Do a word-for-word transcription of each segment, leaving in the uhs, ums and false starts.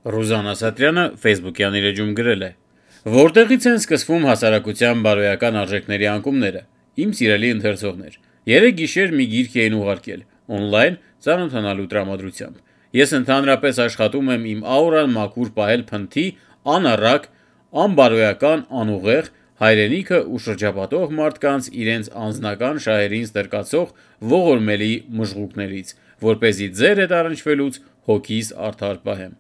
Ռուզան Ասատրյանը Facebook-յան իր էջում գրել է. Որտեղից են սկսվում հասարակության բարոյական արժեքների անկումները։ Իմ սիրելի ընթերցողներ, երեք գիշեր մի գիրք էին ուղարկել, օնլայն ծանոթանալու տրամադրությամբ։ Ես ընդհանրապես աշխատում եմ իմ աուրան մաքուր պահել փնթի, անառակ, անբարոյական, անուղեղ, հայրենիքը ու շրջապատող մարդկանց իրենց անձնական շահերին ստրկացող ողորմելի մժղուկներից, որպեսզի ձեր հետ առնչվելուց հոգիս արդար պահեմ։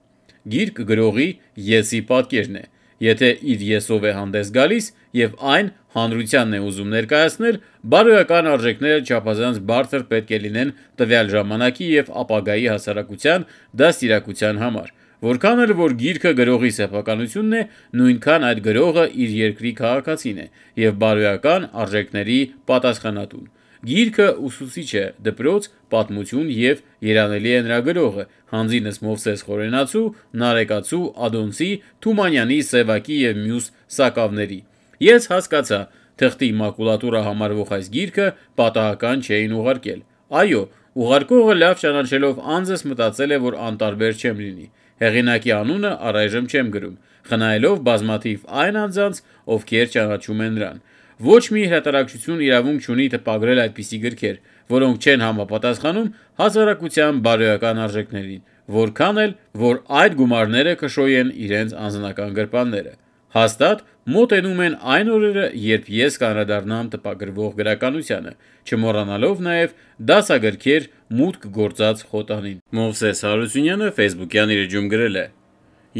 Գիրք գրողի եսի պատկերն է, եթե իր եսով է հանդես գալիս և այն հանրությանն է ուզում ներկայացնել, բարոյական արժեքները չափազանց բարձր պետք է լինեն տվյալ ժամանակի և ապագայի հասարակության դաստիարակության համար, որքան էլ որ գիրքը գրողի սեփականությունն է, նույնքան այդ գրողը իր երկրի քաղաքացին է և բարոյական արժեքների պատասխանատուն։ Գիրքը ուսուցիչ է, դպրոց, պատմություն և երանելի է նրա գրողը, հանձինս Մովսես Խորենացու, Նարեկացու, Ադոնցի, Թումանյանի, Սևակի և մյուս Սակավների։ Ես հասկացա, թղթի մակուլատուրա համարվող այս գիրքը պատահական չէին ուղարկել։ Այո, ուղարկողը լավ ճանաչելով անձս մտածել է, որ անտարբեր չեմ լինի։ Հեղինակի անունը առայժմ չեմ գրում, խնայելով բազմաթիվ այն անձանց, ովքեր ճանաչում են նրան։ Ոչ մի հրատարակչություն իրավունք չունի տպագրել այդպիսի գրքեր, որոնք չեն համապատասխանում հասարակության բարոյական արժեքներին, որքան էլ որ այդ գումարները կշոյեն իրենց անձնական գրպանները։ Հաստատ մոտենում են այն օրերը, երբ ես կանդրադառնամ տպագրվող գրականությանը, չմոռանալով նաև դասագրքեր մուտք գործած խոտանին։ Մովսես Հարությունյանը Facebook-յան իր էջում գրել է.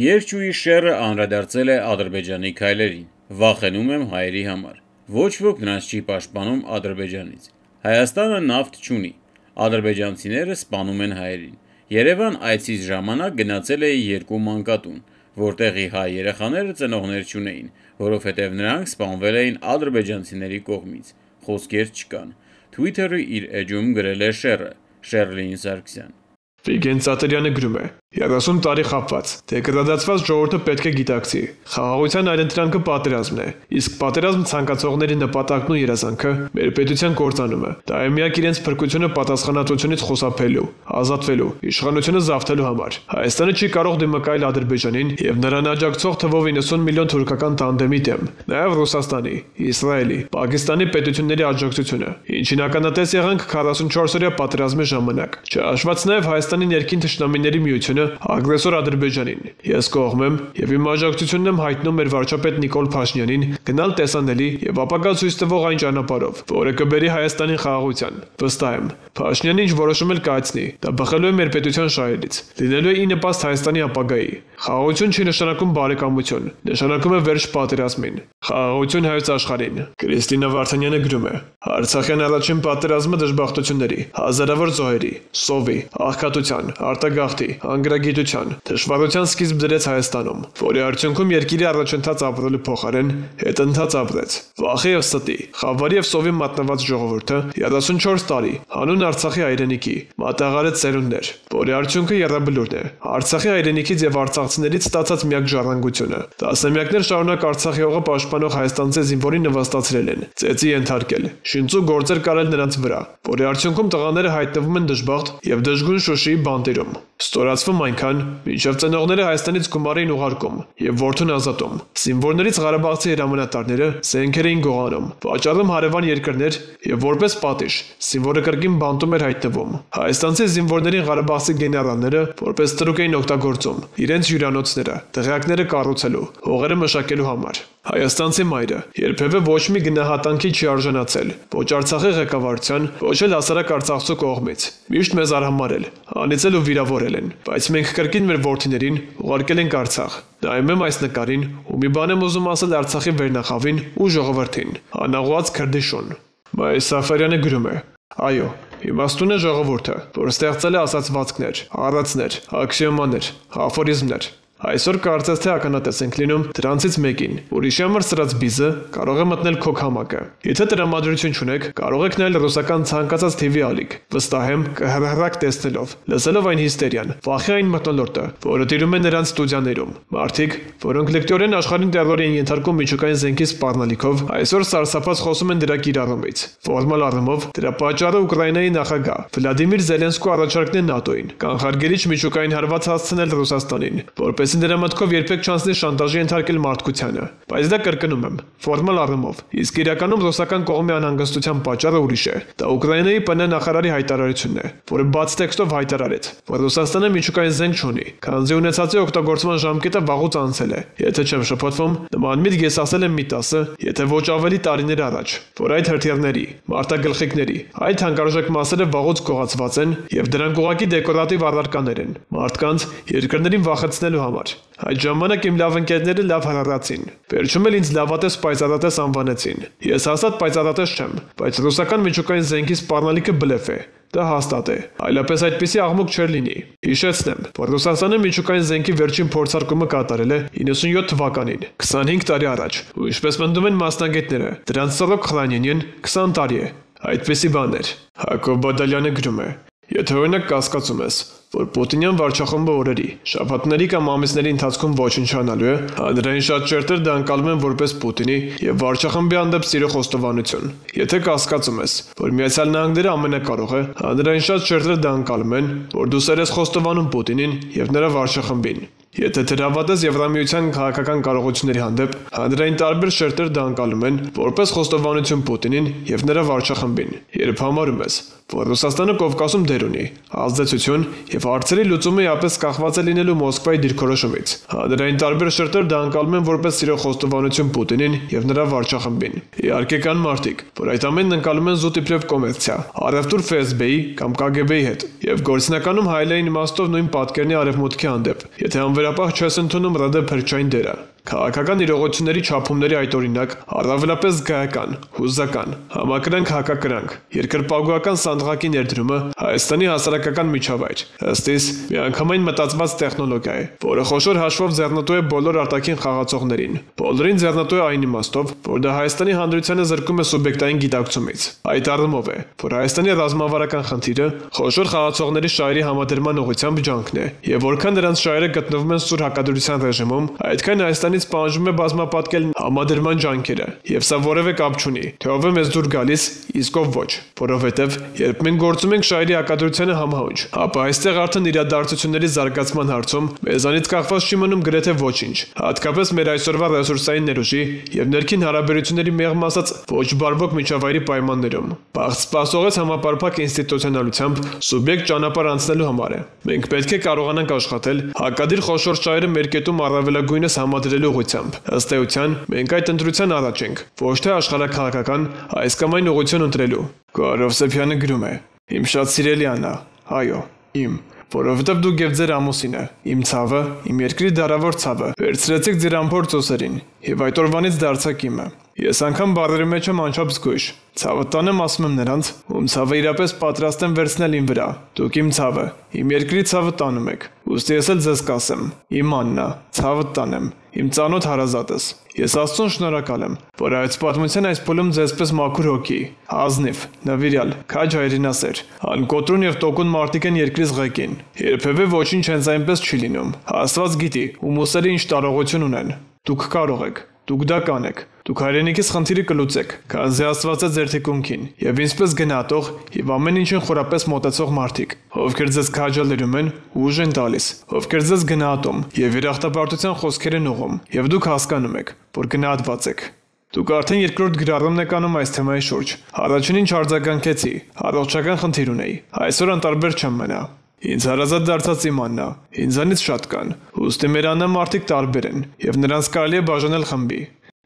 Երճուի շեռը անդրադարձել է Ադրբեջանի քայլերին։ Վախենում եմ հայերի համար։ Ոչ ոք նրանց չի պաշտպանում Ադրբեջանից։ Հայաստանը նավթ չունի։ Ադրբեջանցիները սպանում են հայերին։ Երևան այցից ժամանակ գնացել էի երկու մանկատուն, որտեղի հայ երեխաները ծնողներ չունեին, որովհետև նրանք սպանվել էին ադրբեջանցիների կողմից։ Խոսքեր չկան։ Twitter-ը իր էջում գրել է շեռը, Շեռլին Սարգսյան։ Վիգեն Ծատերյանը գրում է. երեսուն տարի խաբված, դեգրադացված ժողովուրդը պետք է գիտակցի։ Խաղաղության այլընտրանքը պատերազմն է, իսկ պատերազմ ցանկացողների նպատակն ու երազանքը մեր պետության կործանումը։ Դա է միակ իրենց փրկությունը պատասխանատվությունից խուսափելու, ազատվելու, իշխանությունը զավթելու համար։ Հայաստանը չի կարող դիմակայել Ադրբեջանին եւ նրան աջակցող թվով իննսուն միլիոն թուրքական տանդեմի դեմ, նաեւ Ռուսաստանի, Իսրայելի, Պակիստանի պետությունների աջակցությունը, ինչին ականատես եղանք քառասունչորս-օրյա պատերազմի ժամանակ։ Չհաշված նաեւ Հայաստանի ներքին թշնամիների միությունը ագրեսոր Ադրբեջանին։ Ես կողմ եմ եւ իմ աջակցությունն եմ հայտնում մեր վարչապետ Նիկոլ Փաշինյանին գնալ տեսանելի եւ ապագա ցույց տվող այն ճանապարհով, որը կբերի Հայաստանին խաղաղության։ Վստահ եմ, Փաշինյանը ինչ որոշում էլ կայացնի, դա բխելու է մեր պետության շահերից, լինելու է ի նպաստ Հայաստանի ապագայի։ Խաղաղություն չի նշանակում բարեկամություն, նշանակում է վերջ պատերազմին։ Խաղաղություն հայոց աշխարհին։ Կրիստինա Վարդանյանը գրում է. Արցախյան առաջին պատերազմը դժբախտությունների, հազարավոր զոհերի, սովի, աղքատության, արտագաղթի, անգրագիտության, դժվարության սկիզբ դրեց Հայաստանում, որի արդյունքում երկիրի առաջընթաց ապրելու փոխարեն հետընթաց ապրեց։ Վախի եւ ստի, խավարի եւ սովի մատնված ժողովուրդը երեսունչորս տարի հանուն Արցախի հայրենիքի մատաղարեց սերունդներ, որի արդյունքը եռաբլուրն է։ Արցախի հայրենիքից եւ արցախցիներից ստացած միակ ժառանգությունը։ Տասնամյակներ շարունակ Արցախի հողը պաշտպանող հայաստանցի զինվորին նվաստացրել են, ծեծի ենթարկել, շինծու գործեր կարել նրանց վրա, որի արդյունքում տղաները հայտնվում են դժբախտ եւ դժգույն Շուշիի բանտերում։ Ստորացվում այնքան, մինչև ծնողները Հայաստանից գումար էին ուղարկում եւ որդուն ազատում։ Զինվորներից Ղարաբաղցի հրամանատարները զենքեր էին գողանում, վաճառում հարևան երկրներ եւ որպես պատիժ զինվորը կրկին բանտում էր հայտնվում։ Հայաստանցի զինվորներին Ղարաբաղցի գեներալները որպես տրուկ էին օգտագործում իրենց հյուրանոցները, դղյակները կառուցելու, հողերը մշակելու համար։ Հայաստանցի մայրը երբևէ ոչ մի գնահատանքի չի արժանացել, ոչ Արցախի ղեկավարության, ոչ էլ հասարակ Արցախցու կողմից։ Միշտ մեզ արհամարել, անիծել ու վիրավորել են, բայց մենք կրկին մեր որդիներին ուղարկել ենք Արցախ։ Նայում եմ այս նկարին ու մի բան եմ ուզում ասել Արցախի վերնախավին ու ժողովրդին։ Անաղուած Քրդիշուն։ Մայր Սաֆարյանը գրում է. Այո, իմաստուն է ժողովուրդը, որ ստեղծել է ասացվածքներ, առածներ, աքսիոմաներ, աֆորիզմներ։ Այսօր կարծես թե ականատես ենք լինում դրանցից մեկին, ուրիշի համար սրած բիզը կարող է մտնել քո քամակը։ Եթե տրամադրություն չունեք, կարող եք նայել ռուսական ցանկացած թի վի ալիք։ Վստահ եմ, կհրահրակ տեսնելով, լսելով այն հիստերիան, վախի այն մթնոլորտը, որը տիրում է նրանց ստուդիաներում։ Մարդիկ, որոնք լեկտորեն աշխարհին տերորի են ենթարկում միջուկային զենքի սպառնալիքով, այսօր սարսափած խոսում են դրա կիրառումից։ Ֆորմալ առումով դրա պատճառը Ուկրաինայի նախագահ Վլադիմիր Զելենսկու առաջարկն է ՆԱՏՕ-ին, կանխարգելիչ միջուկային հարված հասցնել Ռուսաստանին, որպես որպեսզի նրա մտքով երբեք չանցնի շանտաժի ենթարկել մարդկությանը, բայց դա կրկնում եմ, ֆորմալ առումով, իսկ իրականում ռուսական կողմի անհանգստության պատճառը ուրիշ է։ Դա Ուկրաինայի ՊՆ նախարարի հայտարարությունն է, որը բաց տեքստով հայտարարեց, որ Ռուսաստանը միջուկային զենք չունի, քանզի ունեցածի օգտագործման ժամկետը վաղուց անցել է։ Եթե չեմ շփոթվում, նման միտք ես ասել եմ մի տասը, եթե ոչ ավելի տարիներ առաջ, որ այդ հրթիռների, մարտագլխիկների, այդ հանկարժեք մասերը վաղուց գողացված են եւ դրանք ուղղակի դեկորատիվ առարկաներ են, մարդկանց երկրներին վախեցնելու համար։ Այդ ժամանակ իմ լավ ընկերները լավ հրառացին։ Վերջում էլ ինձ լավատես պայծառատես անվանեցին։ Ես հաստատ պայծառատես չեմ, բայց ռուսական միջուկային զենքի սպառնալիքը բլեֆ է։ Դա հաստատ է։ Այլապես այդպիսի աղմուկ չէր լինի։ Հիշեցնեմ, որ Ռուսաստանը միջուկային զենքի վերջին փորձարկումը կատարել է իննսունյոթ թվականին, քսանհինգ տարի առաջ, ու ինչպես պնդում են մասնագետները, դրանց սրոք խրանյենին քսան տարի է։ Այդպիսի բան էր։ Հակոբ Բադալյանը գրում է. Եթե օրինակ կասկածում ես, որ Պուտինյան վարչախումբը օրերի, շաբաթների կամ ամիսների ընթացքում ոչնչանալու է, հանրային շատ շերտեր դա անցալում են որպես Պուտինի եւ վարչախմբի հանդեպ սիրո խոստովանություն։ Եթե կասկածում ես, որ Միացյալ Նահանգները ամենակարող է, հանրային շատ շերտեր դա անցալում են, որ դու սեր ես խոստովանում Պուտինին եւ նրա վարչախմբին։ Եթե դրավատես Եվրամիության քաղաքական կարողությունների հանդեպ, հանրային տարբեր շերտեր դա անցալում են որպես խոստովանություն Պուտինին եւ նրա վարչախմբին։ Երբ համարում ես, որ Ռուսաստանը Կովկասում դեր ունի, ազդեցություն եւ հարցերի լուծումը իապես կախված է լինելու Մոսկվայի դիրքորոշումից, հանրային տարբեր շերտեր դա անցալում են որպես սիրո խոստովանություն Պուտինին եւ նրա վարչախմբին։ Իհարկե կան մարդիկ, որ այդ ամենն անցալում են զուտ իբրև կոմերցիա, առևտուր Ֆ S B-ի կամ K G B-ի հետ եւ գործնականում հայելային իմաստով նույն պատկերնի արևմուտքի հանդեպ, եթե անվերապահ չես ընդունում ՌԴ փրկչային դերը։ Քաղաքական իրողությունների չափումների այդ օրինակ առավելապես զգայական, հուզական, համակրանք հակակրանք, երկրպագուական սանդղակի ներդրումը Հայաստանի հասարակական միջավայր, ըստ իս միանգամայն մտածված տեխնոլոգիա է, որը խոշոր հաշվով ձեռնտու է բոլոր արտաքին խաղացողներին, բոլորին ձեռնտու է այն իմաստով, որ դա Հայաստանի հանրությանը զրկում է սուբյեկտային գիտակցումից։ Այդ առումով է, որ Հայաստանի ռազմավարական խնդիրը խոշոր խաղացողների շահերի համադրման ուղղությամբ ջանքն է, եւ որքան նրանց շահերը գտնվում են սուր հակադրության ռեժիմում, այդքան Հայաստանի սպանժում է բազմապատկել համադրման ջանքերը, եւ սա որևէ կապ չունի, թե ով է մեզ դուր գալիս, իսկ ով ոչ, որովհետեւ երբ մենք գործում ենք շահերի հակադրությանը համահունչ, ապա այստեղ արդեն իրադարձությունների զարգացման հարցում մեզանից կախված չի մնում գրեթե ոչինչ, հատկապես մեր այսօրվա ռեսուրսային ներուժի եւ ներքին հարաբերությունների մեղմ ասած ոչ բարվոք միջավայրի պայմաններում։ Բաղ սպասողից համապարփակ ինստիտուցիոնալությամբ սուբյեկտ ճանապարհ անցնելու համար է։ Մենք պետք է կարողանանք աշխատել հակադիր խոշոր շահերը մեր կետում առավելագույնս համադրելու ուղղությամբ։ Ըստ էության, մենք այդ ընտրության առաջ ենք, ոչ թե աշխարհաքաղաքական այս կամ այն ուղղություն ընտրելու։ Գորով Սեփյանը գրում է. Իմ շատ սիրելի Աննա, այո, իմ, որովհետև դուք եւ ձեր ամուսինը, իմ ցավը, իմ երկրի դարավոր ցավը, վերցրեցիք ձեր ամփոփ ծոսերին եւ այդ օրվանից դարձաք իմը։ Ես անգամ բառերի մեջ եմ անչափ զգույշ։ Ցավը տանեմ ասում եմ նրանց, ում ցավը իրապես պատրաստ եմ վերցնել իմ վրա։ Դուք իմ ցավը, իմ երկրի ցավը տանում եք։ Ուստի ես էլ ձեզ կասեմ, իմ Աննա, ցավը տանեմ, իմ ծանոթ հարազատս։ Ես Աստծուն շնորհակալ եմ, որ այս պատմության այս փուլում ձեզպես մաքուր հոգի, ազնիվ, նվիրյալ, քաջ հայրենասեր, անկոտրուն եւ տոկուն մարդիկ են երկրից ղեկին։ Երբևէ ոչինչ հենց այնպես չի լինում։ Աստված գիտի, ում ուսերը ինչ տարողություն ունեն։ Դուք կարող եք, դուք դա կանեք։ Դուք հայրենիքից խնդիրը կլուծեք, քանզի Աստված է ձեր թիկունքին, եւ ինձպես գնահատող եւ ամեն ինչին խորապես մոտեցող մարդիկ, ովքեր ձեզ քաջալերում են ու ուժ են տալիս, ովքեր ձեզ գնահատում եւ երախտապարտության խոսքեր են ուղում, եւ դուք հասկանում եք, որ գնահատված եք։ Դուք արդեն երկրորդ գրառումն եք անում այս թեմայի շուրջ։ Առաջինին չարձագանքեցի, առողջական խնդիր ունեի։ Այսօր անտարբեր չեմ մնա։ Ինձ հարազատ դարձած իմ Աննա, ինձանից շատ կան, ուստի մեր Աննա մարդիկ տարբեր են, եւ նրանց կարելի է բաժանել խմբի։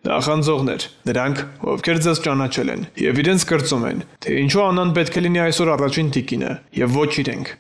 Նախանձողներ, նրանք, ովքեր ձեզ ճանաչել են, եւ իրենց կրծում են, թե ինչու Աննան պետք է լինի այսօր առաջին տիկինը, եւ ոչ իրենք։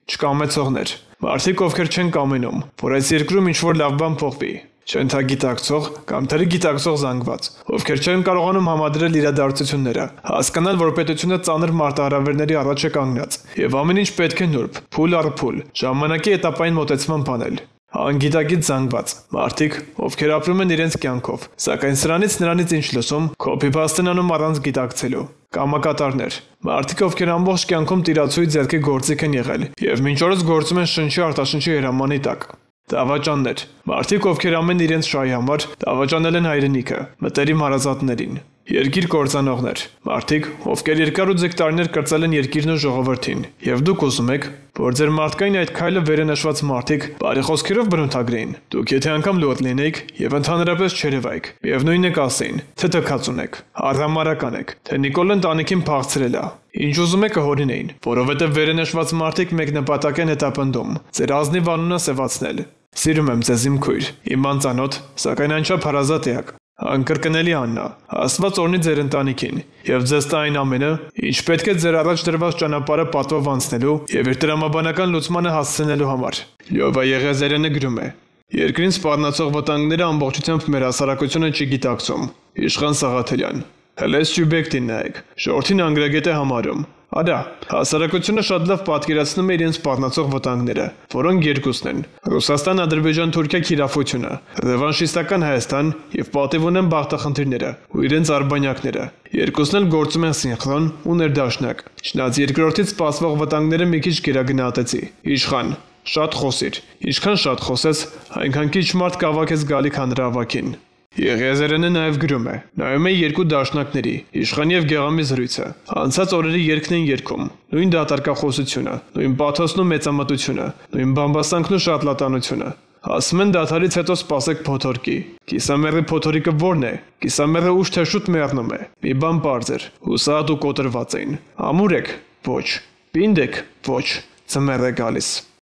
Չկամեցողներ, մարդիկ, ովքեր չեն կամենում, որ այս երկրում ինչ-որ լավ բան փոխվի։ Չընթագիտակցող կամ թերի գիտակցող զանգված, ովքեր չեն կարողանում համադրել իրադարձությունները, հասկանալ, որ պետությունը ծանր մարտահրավերների առաջ է կանգնած, եւ ամեն ինչ պետք է նուրբ, փուլ առ փուլ, ժամանակի հետապային մոտեցման բանել։ Անգիտակից զանգված, մարդիկ, ովքեր ապրում են իրենց կյանքով, սակայն սրանից նրանից ինչ լսում, copy-paste են անում առանց գիտակցելու։ Կամակատարներ, մարդիկ, ովքեր ամբողջ կյանքում տիրացույց ձեռքի գործիք են եղել, եւ մինչ օրս գործում են շնչի արտաշնչի հրամանի տակ։ Դավաճաններ, մարդիկ, ովքեր ամեն իրենց շահի համար դավաճանել են հայրենիքը, մտերիմ հարազատներին։ Երկիր կործանողներ, մարդիկ, ովքեր երկար ու ձգ տարիներ կրծել են երկիրն ու ժողովրդին, եւ դուք ուզում եք, որ ձեր մարդկային այդ քայլը վերը նշված մարդիկ բարի խոսքերով բնութագրեին։ Դուք եթե անգամ լոտ լինեիք եւ ընդհանրապես չերևայիք, միևնույնն է կասեին, թե թքած ունեք, արհամարական եք, թե Նիկոլեն տանիքին փախցրել է։ Ինչ ուզում եք կհորինեին, որովհետեւ վերը նշված մարդիկ մեկ նպատակ են հետապնդում, ձեր ազնիվ անունը սևացնել։ Սիրում եմ ձեզ իմ քույր, իմ անծանոթ, սակայն անչափ հարազատ էակ։ Անկրկնելի Աննա, Աստված օրհնի ձեր ընտանիքին եւ ձեզ տա այն ամենը, ինչ պետք է ձեր առաջ դրված ճանապարհը պատվով անցնելու եւ իր տրամաբանական լուծմանը հասցնելու համար։ Լյովա Եղիազարյանը գրում է. Երկրին սպառնացող վտանգները ամբողջությամբ մեր հասարակությունը չի գիտակցում։ Իշխան Սաղաթելյան։ Հենց սյուբյեկտին նայեք, շորթին անգրագետ է համարում։ Արա, հասարակությունը շատ լավ պատկերացնում է իրենց սպառնացող վտանգները, որոնք երկուսն են՝ Ռուսաստան-Ադրբեջան-Թուրքիա քիրավությունը, ռևանշիստական Հայաստան եւ պատիվ ունեն բախտախնդիրները ու իրենց արբանյակները։ Երկուսն էլ գործում են սինխրոն ու ներդաշնակ։ Չնայած երկրորդից սպասվող վտանգները մի քիչ գերագնահատեցի։ Իշխան, շատ խոսիր։ Ինչքան շատ խոսես, այնքան քիչ մարդ կավակես գալիք հանրահավաքին։ Եղիազարյանը նաև գրում է. նայում է երկու դաշնակների, Իշխան եւ Գեղամի զրույցը։ Անցած օրերի երգն են երգում, նույն դատարկախոսությունը, նույն պաթոսն ու մեծամտությունը, նույն բամբասանքն ու շատլատանությունը։ Ասում են դադարից հետո սպասեք փոթորկի։ Կիսամեռի փոթորիկը ո՞րն է։ Կիսամեռը ուշ թե շուտ մեռնում է։ Մի բան պարզ էր, հուսահատ ու կոտրված էին։ Ամուր եք։ Ոչ։ Պինդ եք։ Ոչ։ Ձմեռ է գալիս։